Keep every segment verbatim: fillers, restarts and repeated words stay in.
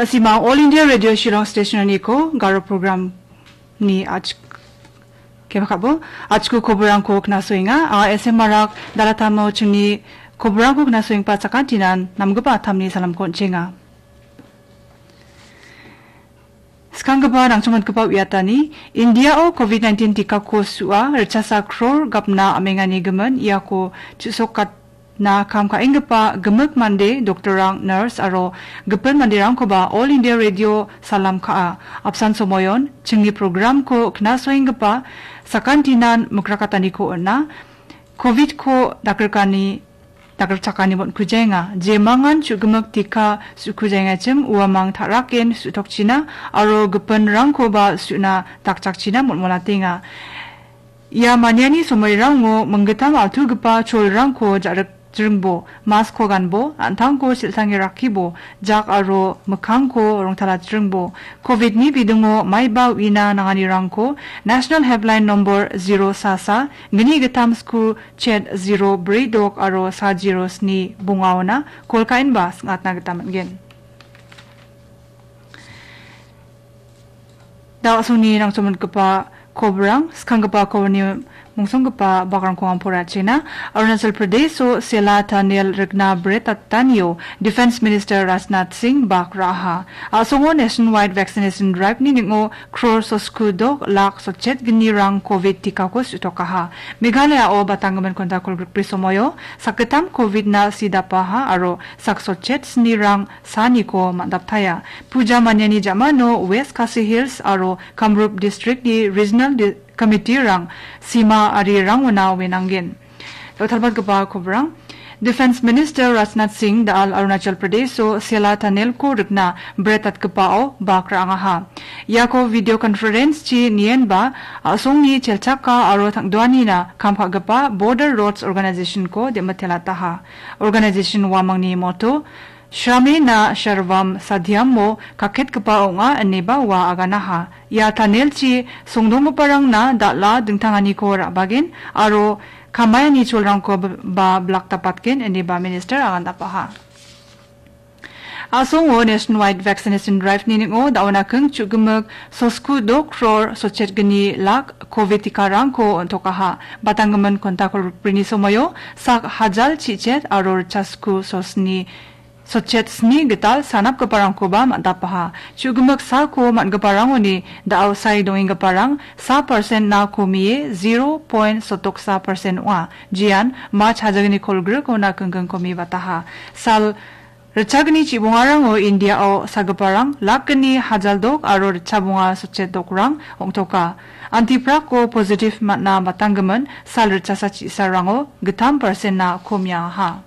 Sima All India Radio Shillong Station-oniko Garo program-ni ach-, kebakabo, achku koborangko knasoenga. Anga S M Marak dalatamo chingni koborangko knasoengpa sakantinan namgipa atamni salamko on·chenga. Skanggipa nangchongmatgipa uiatani, Indiao covid nineteen tikako su·a, ritchasa crore gapna am·engani gimin, iako chu·sokatna kam ka·enggipa gimik mande, doktorrang, nurse aro gipin manderangkoba All India Radio salam ka·a. Apsan somoion, chingni programko knasoenggipa sakantinan mikrakataniko on·a. Covidko dakgrikani, dakgrikchakani mon·kujaenga. Jemangan chu·gimik tika su·kujaengachim uamang ta·raken su·tokchina aro gipinrangkoba su·na dakchakchina mon·monatenga. Ia maniani somoirango minggittam altugipa cholrangko ja·rikjringbo, mask-ko ganbo, an·tangko siltange rakkibo, jak aro mikkangko rongtalatjringbo. Covidni bidingo maiba uina nanganirangko National Helpline nombor zero sa sa gni gittam sku chet zero bri dok aro sa zero sni bongaona kol ka·enba sing·atna gita man·gen. Da·osongni nangchongmatgipa kobrang, skanggipa kobrani mungsonggipa bakrangko ang poraiatchina. Arunachal Pradesh-o Sela Tunnel rikna bret atanio Defence Minister Rajnath Singh bak ra·aha. A·songo nationwide vaccination drive-ni ning·o crore sosku dok lak sotchet gnirang covid tikako su·tokaha. Meghalaya-o batanggimin konta kolgrikbri somoio sakgittam covid-na sidapaha aro sak sotchet snirang saniko man·daptaia. Puja maniani ja·mano West Khasi Hills aro Kamrup District-ni Regional Di-, Committee-rang sima arirangona wenanggen. Dal·talbatgipa kobrang. Defence Minister Rajnath Singh da·al Arunachal Pradesh-o Sela Tunnel-ko rikna bret atgipao bak ra·angaha. Iako video conference-chi nienba a·songni chelchaka aro tangdoanina kam ka·gipa Border Roads Organization-ko dem·itelataha. Organization uamangni motto, Shramena Sarvam Sadhyam-o kaketgipa ong·a ineba ua aganaha. Ia tunnel-chi songdonggiparangna dal·a dingtanganiko ra·bagen aro kamaiani cholrangko b-, ba blak dapatgen ineba minister agandapaha. A·songo nationwide vaccination drive-ni ning·o da·ona king chu·gimik sosku dok crore sotchet gni lak covid tikarangko on·tokaha. Batanggimin konta kolgrikbrini somoio sak hajal chichet aro ritchasku sosni sotchet sni gital sanapgiparangkoba man·dapaha. Chu·gimik sako man·giparangoni da·o sae dongenggiparang sa percent-na komie zero point sotoksa percent ong·a. Jian March hajagni kolgrikona king king komibataha. Sal ritchagni chibongarango Indiao sagiparang lakgni hajal dok aro ritchabonga sotchet dokrang ong·toka. Antiprako positive man·a matanggimin sal ritchasa chisarango gittam percent-na komiaha.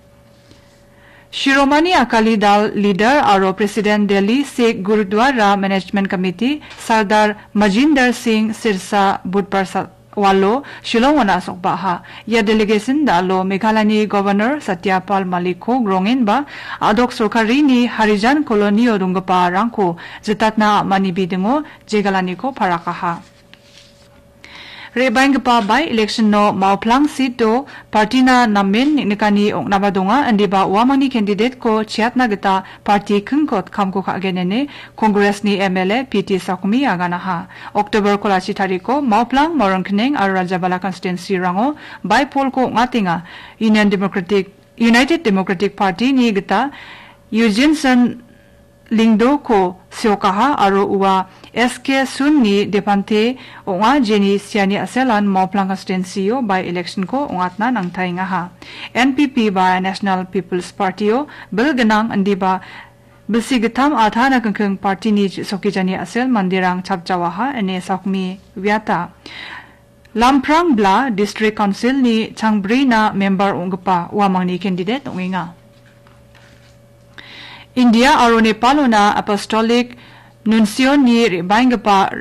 Shiromani Akali Dal leader aro President Delhi Sikh Gurudwara Management Committee Sardar Manjinder Singh Sirsa Budbar sa-, walo Shillong-ona sokbaha. Ia delegation dalo Meghalayani Governor Satya Pal Malik-ko grongenba a·dok sorkarini Harijan Colony-o donggiparangko jitatna am·ani bidingo jegalaniko parakaha. Re·baenggipa by-election-o Maoplang seat-o party-na namen neng·nikani ong·naba donga, indiba uamangni candidate-ko cheatna gita party kingkot kamko ka·gen ine Congress-ni M L A P T Sakmi aganaha. October kolachi tariko Maoplang, Maronkneng aro Rajabala constituency-rango by-poll-ko ong·atenga. Union Democratic, United Democratic Party-ni gita Eugenson Lyngdoh-ko seokaha aro ua S K Sun-ni depante ong·a, jeni siani a·selan Maoplang constituency-o by-election-ko ong·atna nangtaengaha. N P P ba National People's Party-o bil gnang indiba bilsi gittam atana kingking party-ni sokijani a·sel manderang chapjawaha ine Sakmi uiata. Lamprang bla District Council-ni changbrina member ong·gipa uamangni candidate ong·enga. India aro Nepalona Apostolic Nuncio-ni re·baenggipa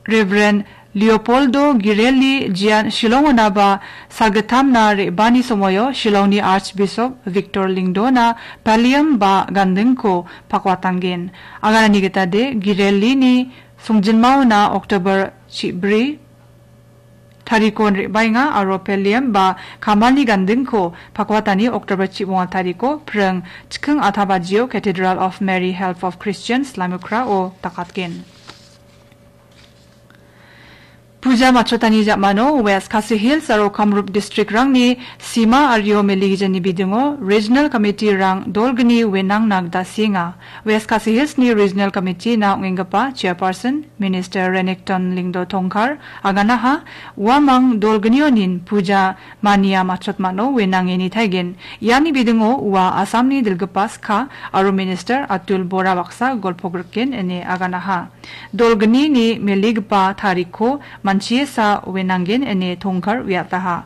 Reverend Leopoldo Girelli Gian Shillong-onaba sagittamna re·bani somoio Shillongni Archbishop Victor Lyngdoh-na pallium ba gandingko pakwatanggen. Aganani gita de Girelli-ni songjinmaona October chibri tarikon re·baenga aro Peliam ba Kamalni gandingko Pakwatani October chibonga tariko pring chiking atabajio Cathedral of Mary Help of Christians Lamukrao dakatgen. Puja matchotani jamano West Khasi Hills aro Kamrup district-rangni sima ario meligijani bidingo Regional Committee-rang dolgni wenangna gita sienga. West Khasi Hills-ni Regional Committee-na ong·enggipa Chairperson Minister Renikton Lyngdoh Tongkhar aganaha, uamang dolgnionin puja mania matchotmano wenange nitaigen. Iani bidingo ua Assamni dilgipa skha aro Minister Atul Bora baksa golpo griken ine aganaha. Dolgnini meligipa tarikko manchiesa wenanggen ine Tongkhar uiataha.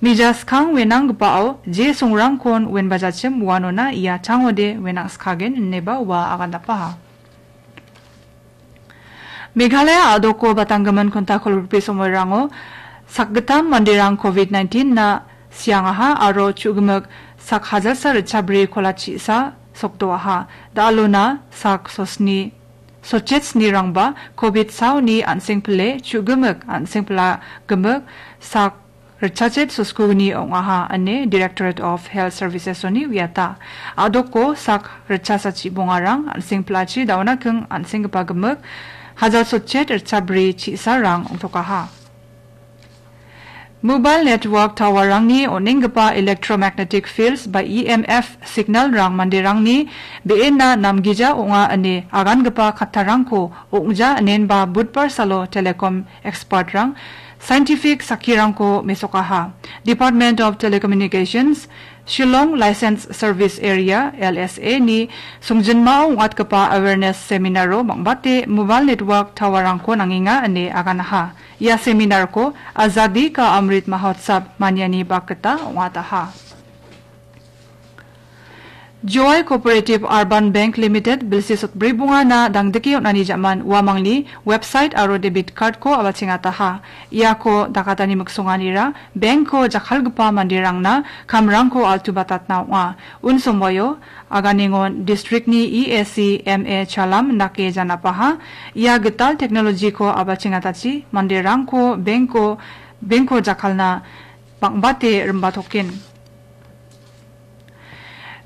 Mija skang wenanggipao je songrangkon wenbajachim uanona ia changode wenangskagen ineba ua agandapaha. Meghalaya a·doko batanggimin konta kolgrikbri somoirango sakgittam manderang covid nineteen-na siangaha aro chu·gimik sak hajalsa ritchabri kola chi·sa sokdoaha. Da·alona sak sosni, sotchet snirangba covid saoni an·seng pile chu·gimik an·seng pila gimik sak ritchachet soskugni ong·aha ine Directorate of Health Services-oni uiata. A·doko sak ritchasachi bongarang an·seng pilachi da·ona king an·senggipa gimik hajal sotchet ritchabri chi·sarang ong·tokaha. Mobile network tower-rangni on·enggipa electromagnetic fields ba E M F signal-rang manderangni be·enna namgija ong·a ine agangipa kattarangko ong·ja inenba budbar salo telecom expert-rang scientific sakkirangko mesokaha. Department of Telecommunications, Shillong License Service Area, L S A-ni songjinmao ong·atgipa awareness seminar-o bang·bate mobile network tower-rangko nangenga ine aganaha. Ia seminar-ko Azadi Ka Amrit Mahotsav maniani bak gita ong·ataha. Joy Cooperative Urban Bank Limited bilsi sotbri bongana dangdike on·ani ja·man uamangni website aro debit card-ko a·bachengataha. Iako dakatani miksonganira bank-ko jakkalgipa manderangna kamrangko altubatatna ong·a. Unsomoio Aganengon district-ni E A C M A Chalam indake janapaha. Ia gital technology-ko a·bachengatachi manderangko bank-ko, bank-ko jakkalna bang·bate rimbatoken.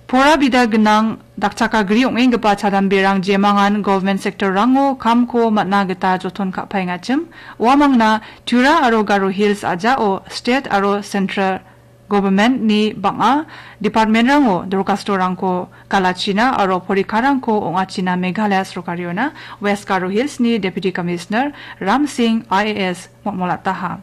Pora bida gnang dakchakagri ong·enggipa chadamberang jemangan government sector-rango kamko man·a gita joton ka·paengachim, uamangna Tura aro Garo Hills a·jao state aro central government-ni bang·a department-rango dorkastorangko galachina aro porikarangko ong·achina Meghalaya sorkariona West Garo Hills-ni Deputy Commissioner Ram Singh I A S mol·molataha.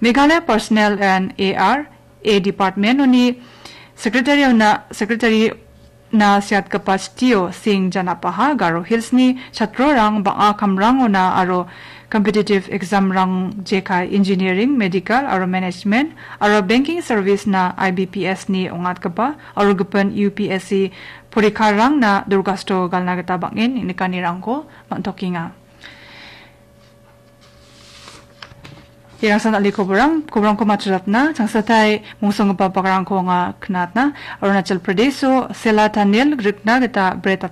Meghalaya Personnel and A R A Department-oni secretary-ona, secretary-na siatgipa chitio Singh janapaha Garo Hills-ni chatrorang bang·a kamrangona aro competitive exam-rang jekai engineering, medical aro management aro banking service-na I B P S-ni ong·atgipa aro gipin U P S C porikarangna dorkasto galna gita bang·en nikanirangko man·tokenga. Iarangsan ali koborang, koborangko matchotna, changsatai mongsonggipa bakrangko anga knatna, Arunachal Pradesh-o Sela Tunnel rikna gita bret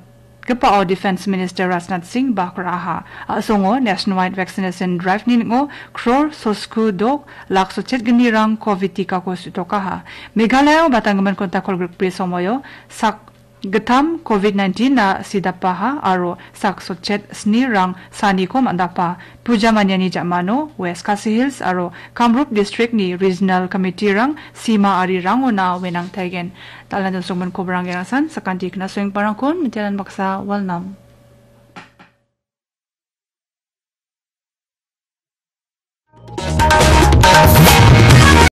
gipao Defence Minister Rajnath Singh bak ra·aha. A·songo nationwide vaccination drive-ni ning·o crore sosku dok lak sotchet gnirang covid tikako su·tokaha. Meghalaya-o batanggimin konta kolgrikbri somoio sak gittam covid nineteen-na sidapaha aro sak sotchet snirang saniko man·dapa. Puja maniani ja·mano West Khasi Hills aro Kamrup district-ni regional committee-rang sima arirangona wenangtaigen. Dal·na donsongmon koborang gerangsan sakanti knasoengparangkon mitianan baksa walnam.